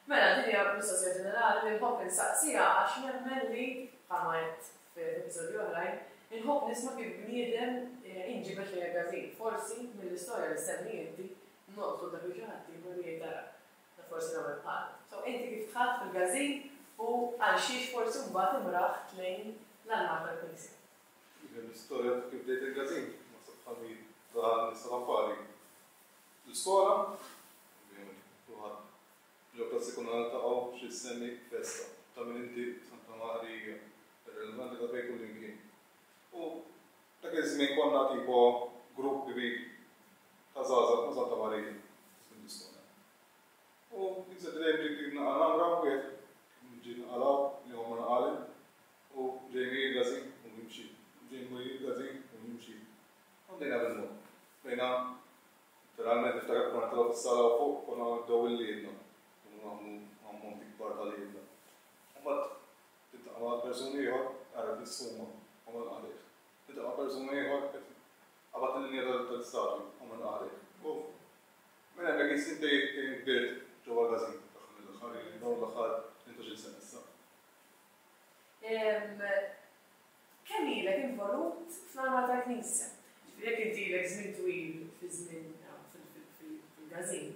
Mela, din hija mistoqsija ġenerali li nħobb insaqsiha għax nemmen li, bħalma għedt f'episodji oħrajn, inħobb nisma' kif bniedem inġibed lejn il-każin. Forsi mill-istorja li ssemmi inti nolqtu dak li xi ħadd ieħor li jgħid ara, da forsi nagħmel bħalu. So inti kif dħalt fil-każin u għal xiex forsi mbagħad imraħt lejn l-armar tal-Knisja? L-istorja ta' kif bdejt il-każin, naħseb bħal mi ta' nies tal-affari. L-iskola, ovvjament kulħadd ġo klassi konna niltaqgħu xi ssemmi festa ta' min inti Santa Marija, irrelevanti ta' fejn kullimkien. U dak iż-żmien konna tipo grupp kbir ta' żgħażagħ ma' Santa Marija żmien l-iskola. U jinsed dejjem dik dik naqa' namra wieħed ġie naqalgħu, l-ieħor ma naqalem u Jamie Gazin u jimxi, Jamie Gazin u jimxi. U bdejna bil-mod. Bdejna Literalment niftakar konna nitilgħu fis-sala u fuq konna nibdew il-liedna. Konna nagħmlu ammonti kbar ta' liedna. U mbagħad tiltaqa' ma' persuni ieħor, ara tissuma u minn għalih. Tiltaqa' ma' persuni ieħor qed qabad il-linja tal-istatwi u minn għalih. U minn hemmhekk qisni bdejt kbirt ġewwa l-każin tagħhom mill-aħħar, dawn l-aħħar 18-il sena issa. Kemm ilek involut fl-armar tal-Knisja? Jiġifieri jekk inti ilek żmien twil fi żmien fil-każin,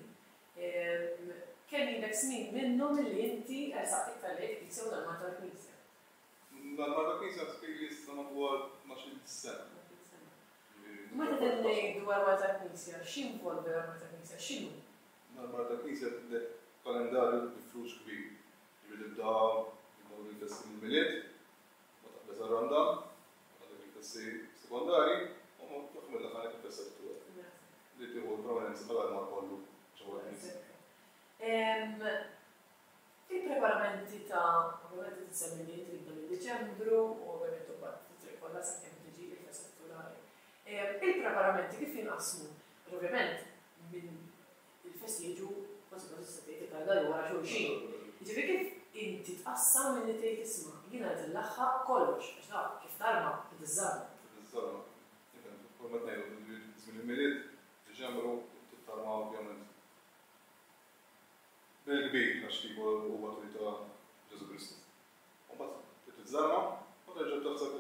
kemm ilek snin minnhom illi inti ersaqt iktar lejn il-Knisja u l-armar tal-Knisja? L-armar tal-Knisja naħseb ili issa madwar 12-il sena. U meta ngħidu armar tal-Knisja, x'jinvolvi l-armar tal-Knisja? X'inhu? L-armar tal-Knisja għandek kalendarju bi flus kbir. Jiġifieri tibda jkunu l-festi mill-Milied, Ma taqbeż għar-Randan, għandek il-festi sekondarji, u fl-aħħar mill-aħħar għandek il-festa tat-Twelid li tieħu l-prominenza tal-armar kollu ġewwa l-knisja. Il-preparamenti ta' ovvjament inti semmi li inti tibda minn Diċembru u ovvjament imbagħad it-triq kollha sakemm tiġi il-festa titulari. Il-preparamenti kif jinqasmu? Għax ovvjament minn Il-festi jiġu kważi kważi tista' tgħid il-kalendarju wara xulxin. Jiġifieri kif inti tqassam milli tgħid isma' jiena rrid inlaħħaq kollox għax taf kif tarma trid iżżarma. Trid iżżarma. Ifhem, kull ma qed ngħidu, żmien il-Milied, Diċembru, trid tarma ovvjament bil-kbir għax tipo huwa twelid ta' Ġesù Kristu. U mbagħad trid tiżżarma u terġa' taħseb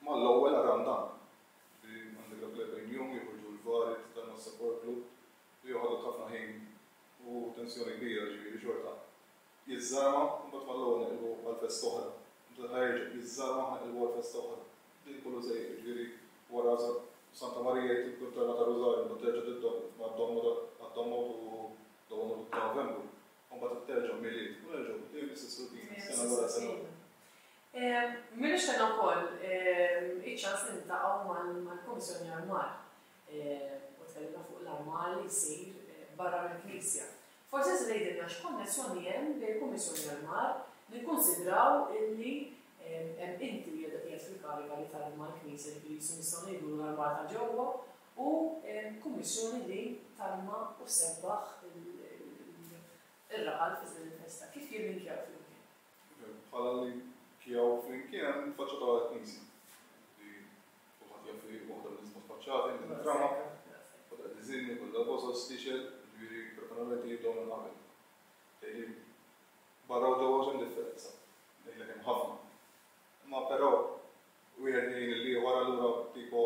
mal-ewwel għar-Randan. Jiġifieri għandek dak l-40 jum joħorġu l-vari, titarma s-sepolkru, li joħodlok ħafna ħin u tensjoni kbira, ġifieri xorta jiżżarma u mbagħad mal-ewwel neqilbu għal festa oħra. Mbagħad ħa jerġa' jiżżarma ħa neqilbu għal festa oħra. Din kollu sejjer, jiġifieri wara Santa Marija jrid ikun tarma ta' Rużarju, mbagħad terġa' tibda għad-Domma u l-ewwel ta' Novembru, u mbagħad terġa' Milied u nerġgħu dejjem l-istess rutina, sena wara sena oħra. M'ilux kellna wkoll iċ-ċans li niltaqgħu mal-Kummissjoni Armar u tkellimna fuq l-armar li jsir barra mill-Knisja. Forsi tista' tgħidilna x'konnessjoni hemm bejn il-Kummissjoni Armar, nikkunsidraw illi hemm inti li qiegħed fil-kariga li tarma l-Knisja, ġifieri qisu nistgħu ngħidulu l-armar ta' ġewwa, u Kummissjoni li tarma u ssebbaħ ir-raħal fi żmien il-festa. Kif jillinkjaw flimkien? Bħala linkjaw flimkien hemm faċċata tal-Knisja li kulħadd jaf li waħda mill-isbaħ faċċati minn trama, kollha diżinni, kollha bozoz, tixgħel, jiġifieri preparamenti jibdew minn qabel. Tgħidli barra u ġewwa x'hemm differenza? Ngħidlek hemm ħafna. Imma però wieħed jgħin lill-ieħor allura tipo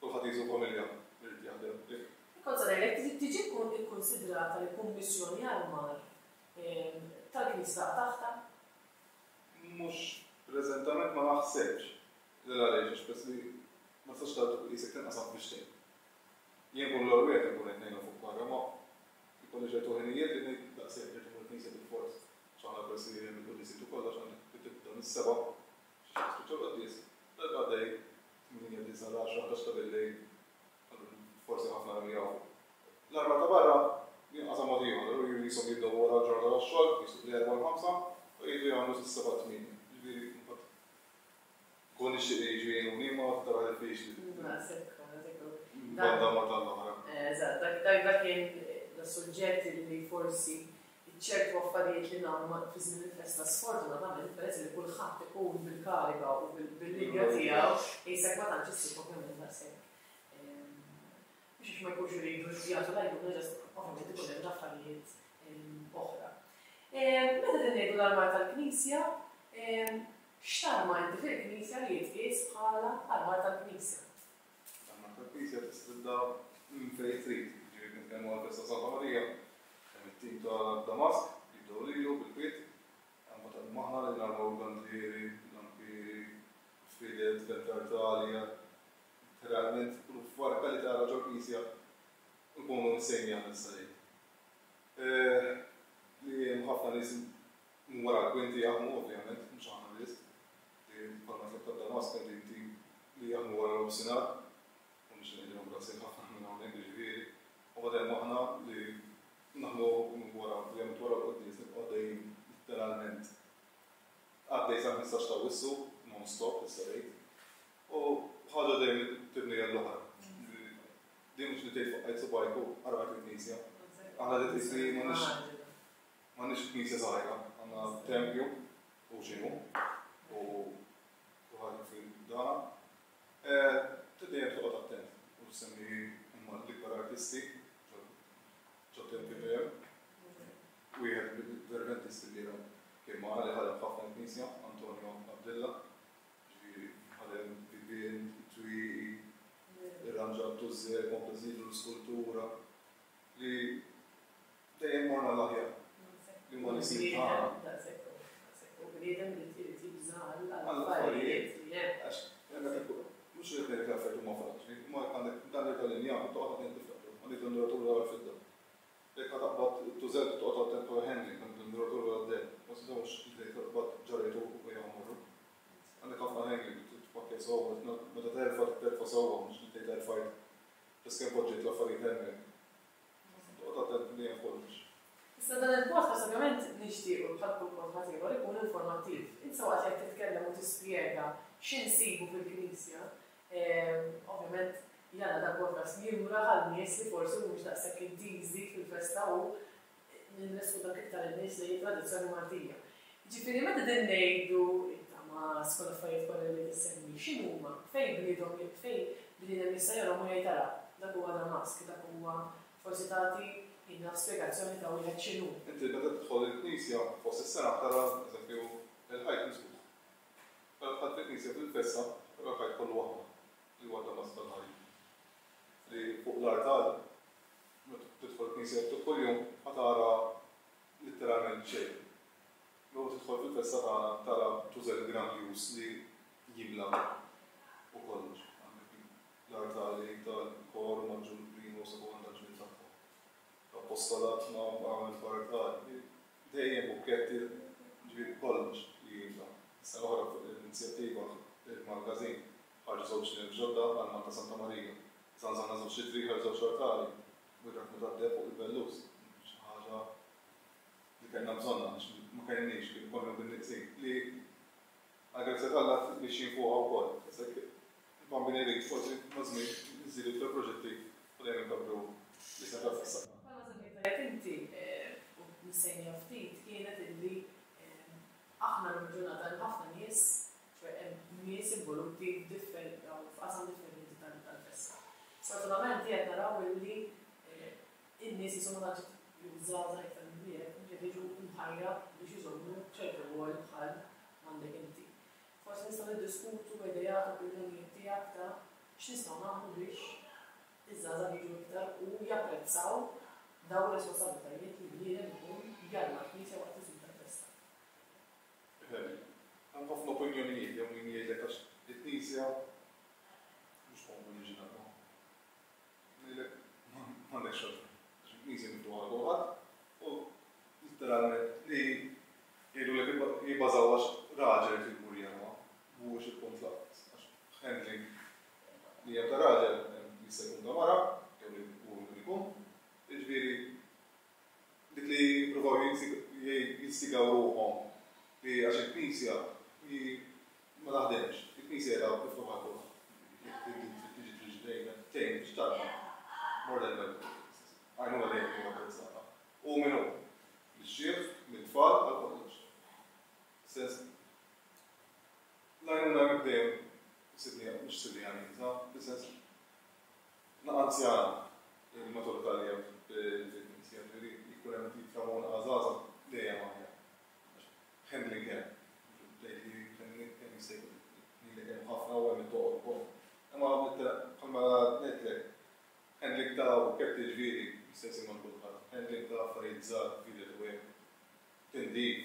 kulħadd qisu familja li jrid jaħdem. Kont se ngħidlek, tiġi kkunsidrata li kummissjoni armar tal-Knisja taqa' taħtha? Mhux preżentament ma naħsebx. L għaliex għax peress li ma tistax tagħti qisek tinqasam f'bixtejn. Jien nkun l-ewwel wieħed li nkun qed ngħinhom fuq barra ma jkolli ċertu ħinijiet li ngħid daqshekk irid immur il-knisja bilfors. Għax aħna peress li hemm il-quddiesiet u kollox għandek tibda mis-sebgħa xi jispiċċa l-quddies, darba għaddej tmienja, disgħa, l-għaxra, ħdax ta' billejl Forsi ħafna li jafu. L-armar ta' barra jinqasam mod ieħor, allura qishom jibdew wara l-ġurnata tax-xogħol, qisu bl-erbgħa u l-ħamsa, u jridu jagħmlu sas-sebgħa tmienja. Jiġifieri mbagħad nkun nixtieq li jiġu jgħinuni imma tara diffiċli. Daqshekk hu, daqshekk hu. Banda ma tal-oħra. Eżatt, dak dak dak kien suġġett li forsi ċertu affarijiet li nagħmlu fi żmien il-festa sfortunatament peress li kulħadd ikun bil-kariga u bil-linja tiegħu qisek ma tantx issib ovvjament daqshekk Mhux għax ma jkunux iridu jagħtu l-għajnuna just ovvjament ikun hemm affarijiet oħra. Meta qegħdin ngħidu l-armar tal-Knisja, x'tarma inti fil-Knisja li jitqies bħala armar tal-Knisja? L-armar tal-Knisja tista' tibda minn fejn trid. Jiġifieri jekk nitkellmu għall-festa Santa Marija, hemm it-tim ta' Damask li jibdew lilu bil-kwiet, hemm mbagħad hemm aħna li narmaw il-bandieri, l-lampieri, il-fided, l-artali, letteralment kull farka li tara ġol-Knisja nkunu msejni aħna s-salib. Li hemm ħafna nies minn wara l-kwinti jaħdmu ovvjament, mhux aħna biss. Li bħalma tlab ta' Damask hemm din tim li jaħdmu wara nofsinhar u nixtieq ngħidilhom grazzi ħafna minn hawnhekk jiġifieri. U mbagħad hemm aħna li naħdmu minn wara, ovvjament wara l-quddies nibqgħu għaddejjin litteralment għaddej sal-15 ta' Awwissu non stop tista' tgħid. U ħaġa dejjem tibni għall-oħra. Din mhux li tgħid faqqajt subgħajk u qargħet il-knisja. Aħna li tgħid li m'għandniex m'għandniex knisja żgħira, għandna tempju u x'inhu u kulħadd jaf dana. Trid dejjem toqgħod attent u semmi huma l-ikbar artisti ġot-tempju dejjem. Wieħed mill-verventisti li kien magħna li ħadem ħafna l-knisja, Antonio Abdilla, ġifieri ħadem bibien, twieqi, irranġa t-tużżer, kompla żiedu l-iskultura, li dejjem morna l-aħjar. Li huma l-isir tagħna. U bniedem li trid jibża' għall-affarijiet li hemm. Għax mhux li qed ngħidlek l-affarijiet huma faċli, imma għandek dan li tal-injam toqgħod attent tiftakru, għandek l-induratura għall-fidda. Jekk ħa taqbad it-tużell trid toqgħod attent fuq il-handling, għandek l-induratura għad-deheb, ma tistgħux li taqbad ġarrejtu u ejja mmorru. Għandek ħafna handling, trid tpakkja sewwa, meta terfa' trid terfa' sewwa, mhux li tgħid erfajt biss kemm poġġejt l-affarijiet hemmhekk. Toqgħod attent dejjem f'kollox. Issa dan il-podcast ovvjament nixtiequ bħal kull podcast ieħor ikun informattiv. Issa waqt li qed titkellem u tispjega x'insibu fil-Knisja, ovvjament jalla dal-podcast jimraħ għal nies li forsi mhumiex daqshekk intiżi fil-festa u nressqu dak iktar in-nies lejn it-tradizzjoni Maltija. Jiġifieri meta qegħdin ngħidu it-tamask u l-affarijiet kollha li qed issemmi, x'inhuma? Fejn bniedhom fejn bniedem jista' jarahom u jgħid ara, dak huwa damask, dak huwa forsi tagħti jien naf spjegazzjoni ta' wieħed x'inhu. Inti meta tidħol il-knisja fost is-sena tara eżempju il-ħajt miżbugħ. Meta dħalt fil-knisja fil-festa tara l-ħajt kollu aħmar li huwa d-damask tal-ħajt. Li fuq l-artal meta tidħol il-knisja kuljum ma tara litteralment xejn. Meta tidħol fil-festa tagħna tara tużell grandjuż li jimla u kollox. Għandek l-artali tal-kor maġġur prima u sekonda ġmiel tagħhom. L-appostolat ma għamel artali. Dejjem bukketti ġifieri kollox li jimla. Is-sena l-oħra fuq l-inizjattiva il-magazin ħarġu żewġ nef ġodda għal Malta Santa Marija. Żanżanna żewġ litri ħarġu żewġ artali. Wieħed meta għaddew fuq il-bellus. Xi ħaġa li kellna bżonnha għax ma kellniex kien konna bin-nieqsin li għall-grazzja t'Alla mixjin fuqha wkoll. Issa jekk il-Bambin irid forsi maż-żmien nżidu iktar proġetti u dejjem inkabbru l-isem tal-festa tagħna. Bħalma semmejt tajjeb inti u nissejniha ftit kienet illi aħna llum il-ġurnata hemm ħafna nies, ċoe hemm nies involuti f'qasam differenti tal-festa. Sfortunatament qed naraw illi in-nies qishom ma tantx jew iż-żgħażagħ iktar milli hekk mhux qed jiġu mħajra biex iżommu ċertu rwol bħal m'għandek inti. Forsi nistgħu niddiskutu ideat, opinjonijiet tiegħek ta' x'nistgħu nagħmlu biex iż-żgħażagħ jiġu iktar u japprezzaw dawn ir-responsabbiltajiet li bniedem ikun jarma l-Knisja waqt iż-żmien tal-festa. Hemm ħafna opinjonijiet jew min jgħidlek għax il-Knisja mhux komdu niġi narma. Ngħidlek m'għandekx raġun. Għax il-Knisja miftuħa għal kulħadd u litteralment li jgħidulek jibbażaw għax raġel irid imur jarma mhuwiex il-punt lanqas. Għax handling li hemm ta' raġel jista' jkun ta' mara jew li hu min ikun. Jiġifieri dik li jippruvaw jinstigaw ruħhom li għax il-Knisja li ma taħdemx. Il-Knisja qiegħda miftuħa għal kulħadd. Jekk trid tiġi tiġi tgħin tgħin biex tarma. More than welcome. Għajnuna dejjem tkun apprezzata. U min hu? Mix-xierħ, mit-tfal għal kollox. Sens l-għajnuna hemmhekk dejjem sibniha, mhux sibniha nieqsa, fis-sens naqa' anzjana il-maturità li hemm fil-Knisja, ġifieri jkun hemm tip ta' għażaża dejjem aħjar. Handling hemm. Tgħid li handling kemm jista' jkun lilek hemm ħafna u hemm it-toqol ukoll. Imma bħalma ngħidlek, handling ta' bukketti ġifieri jista' jsir ma' kulħadd. Handling ta' affarijiet żgħar, fided u hekk, tindif,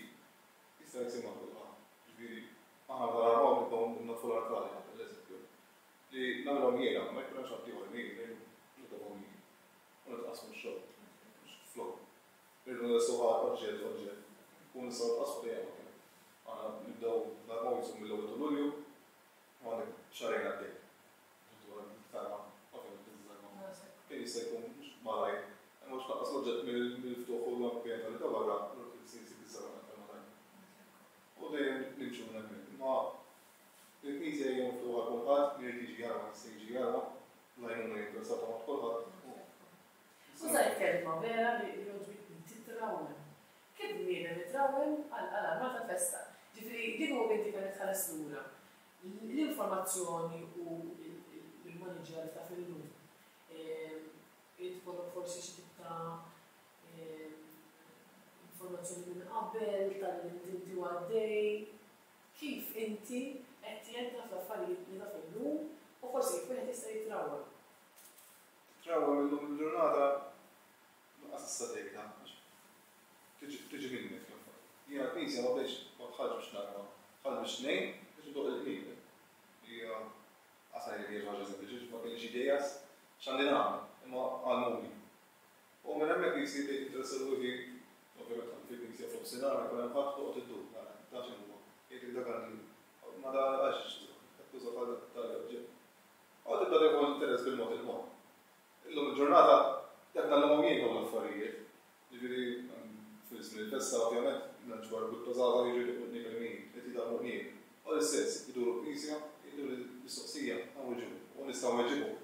jista' jsir ma' kulħadd. Ġifieri aħna meta narmawhom nibdew naddfu l-artali, nagħti l-eżempju, li nagħmilhom jiena, ma jkun hemmx ħaddieħor li jgħinni, nitobhom jien. U nitqassmu x-xogħol. Mhux flok. Irridu nlestuha oġġett oġġett. Nkunu nistgħu nitqassmu dejjem aħjar. Aħna nibdew narmaw qisu mill-ewwel ta' Lulju u għandek xahrejn għaddej. Dwar tarma, ovvjament tiżżarma. Kemm jista' jkun mhux malajr, imma biex tnaqqas l-oġġett mill-ftuħ u l-ambjent li ta' barra, allura trid issir issib iż-żarma aktar malajr. U dejjem nimxu minn hemmhekk. Imma il-Knisja hija miftuħa għal kulħadd, min irid jiġi jarma jista' jiġi jarma, l-għajnuna hija interessata ma' kulħadd. Użajt kelma vera li jogħġbitni, titrawwem. Kif bniedem itrawwem għal armar tal-festa? Ġifieri kieku inti kellek tħares lura, l-informazzjoni u l-immaniġġjar li taf illum, irid ikollok forsi xi tip ta' informazzjoni minn qabel, tgħallimt inti u għaddej, kif inti qed tgħin taf l-affarijiet li taf illum u forsi kif wieħed jista' jitrawwem? Trawwem illum il-ġurnata lanqas tista' tgħidha għax tiġi tiġi minnek l-affari. Jiena l-Knisja ma bdejtx ma dħaltx biex narma, dħalt biex ngħin biex indoqq il-qniepen. Li hija qas ngħidlek hija xi ħaġa sempliċi għax ma kellix idea x'għandi nagħmel, imma għallmuni. U minn hemmhekk qisni bdejt ninteressa ruħi, ovvjament dħalt fil-Knisja f'nofsinhar ma jkun hemm ħadd toqgħod iddur, tara da x'inhuwa, jgħidlek dak għandi, ma da għax qed tuża bħal tali oġġett. U tibda tieħu interess bil-mod il-mod. Illum il-ġurnata qed ngħallimhom jien dawn l-affarijiet. Jiġifieri fil-żmien il-festa ovvjament nġbar grupp ta' żgħażagħ jiġu jdoqqu qniepen min qed jitgħallmu qniepen. U l-istess, iduru l-knisja, jgħidu l-mistoqsija, nweġibhom u nista' nweġibhom.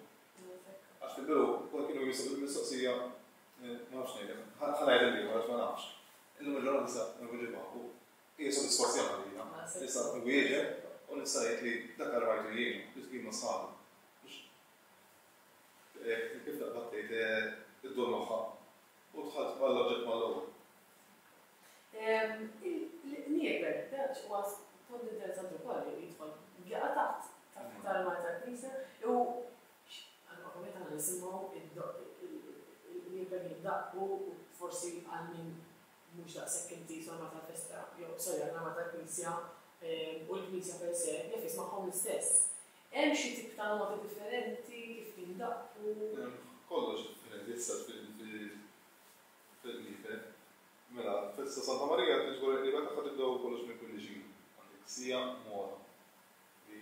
Għax fil-bidu kont kienu jistaqsu l-mistoqsija ma nafx ngħidlek, ħa ngħid lill-ieħor għax ma nafx. Illum il-ġurnata nista' nweġibha u Hija sodisfazzjon għalija. Nista' nwieġeb u nista' ngħid li dak armajtu jien, li tqim ma' sħabi. Mhux kif taqbad tgħid iddur moħħha u dħalt għall-oġġett mal-ewwel. Il-qniepen, dak huwa punt interessanti wkoll li jidħol jaqa' taħt taħt l-armar tal-Knisja u ovvjament aħna nisimgħu il-qniepen jiddaqqu u forsi għal min mhux daqshekk intiż mal-armar tal-festa, jew sorry għall-armar tal-Knisja u l-Knisja per se, jaf jismagħhom l-istess. Hemm xi tip ta' noti differenti kif jindaqqu? Hemm kollox differenti issa fil-qniepen. Mela, festa Santa Marija tiġbor il-qniepen tagħha tibdew kollox minn kwindiċina. Għandek siegħa mota li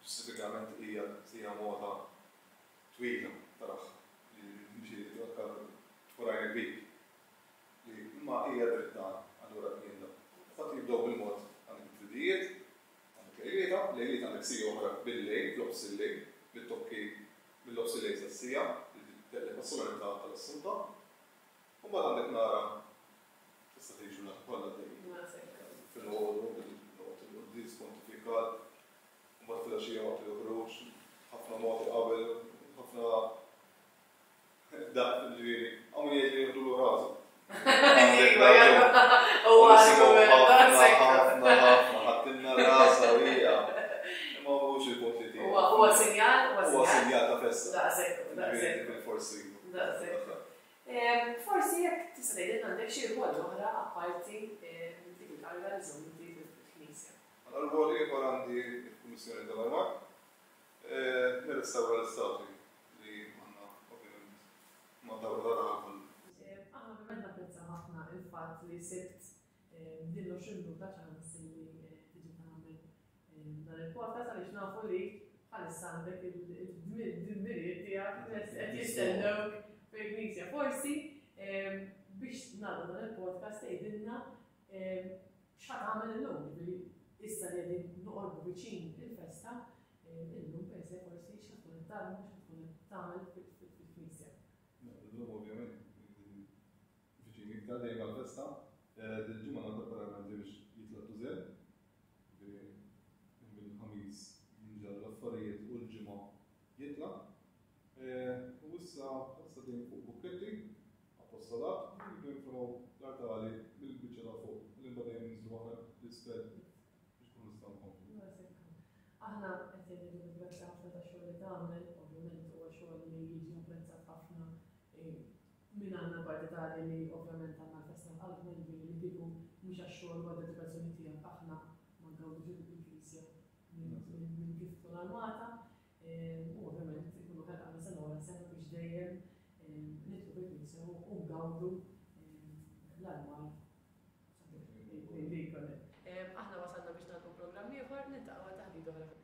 ġustifikament hija siegħa mota twila taraha li mxi tkun għajnek bik. Li imma hija dritt tagħna, allura jien Infatti jibdew bil-mod għandek it-tridijiet, għandek lejlieta, lejlieta għandek siegħa oħra bil-lejl, fl-nofs il-lejl, bit-tokki mill-nofs il-lejl sas-siegħa, li teqleb għas-solennità tal-Assunta. U mbagħad għandek nara tista' tgħid ġurnata kollha għaddejjin. Filgħodu, waqt il-quddies pontifikal, u mbagħad filgħaxija waqt il-ħruġ, ħafna moti qabel, ħafna Daqq, ġifieri, hawn min jgħid li jieħdulu rasu. Ħafna, ħafna, ħadtilna rasha u hija. Imma mhux il-punt li tiegħi. Huwa sinjal, huwa sinjal ta' festa. Daqshekk, daqshekk. Forsi. Daqshekk. Forsi jekk tista' tgħidilna għandek xi rwol oħra apparti dik il-kariga li żżomm inti fil-Knisja. Mela rwol ieħor għandi l-Kummissjoni tal-Armar. Nirrestawra l-istatwi li għandna ovvjament mad-dawra ta' raħal kollu. Aħna ovvjament napprezzaw ħafna il-fatt li sibt din l-20 minuta ċans li tiġi tagħmel dan il-podcast għaliex nafu li bħalissa għandek il-dmirijiet tiegħek qed jistennewk fil-knisja. Forsi biex nagħlqu dan il-podcast tgħidilna x'ħa tagħmel illum, jiġifieri issa li qegħdin noqorbu viċin il-festa, illum per se forsi x'ħa tkun qed tagħmel, x'ħa tkun qed tagħmel fil-knisja. Illum ovvjament viċin iktar dejjem għall-festa, dil-ġimgħa nagħmel preparamenti biex jitla' tużel, mill-ħamis jinġarru l-affarijiet u l-ġimgħa jitla'. U issa bħalissa dejjem fuq bukketti, appostolat, jridu jinfraw l-artali mill-biċċa ta' fuq, li mbagħad dejjem ninżlu aħna. Aħna qed ngħidulek grazzi ħafna tax-xogħol li tagħmel, ovvjament huwa xogħol li jiġi apprezzat ħafna minn għandna l-partitarji li ovvjament għandna l-festa f'qalbna, jiġifieri li kieku mhux għax-xogħol u għad-dedikazzjoni tiegħek aħna ma ngawdux il-Knisja minn kif tkun armata. U ovvjament ikunu ħerqana sena wara sena biex dejjem nidħlu fil-Knisja u ngawdu l-armar li jkun hemm. Aħna wasalna biex nagħlqu programm ieħor, niltaqgħu għal taħdita oħra fil-.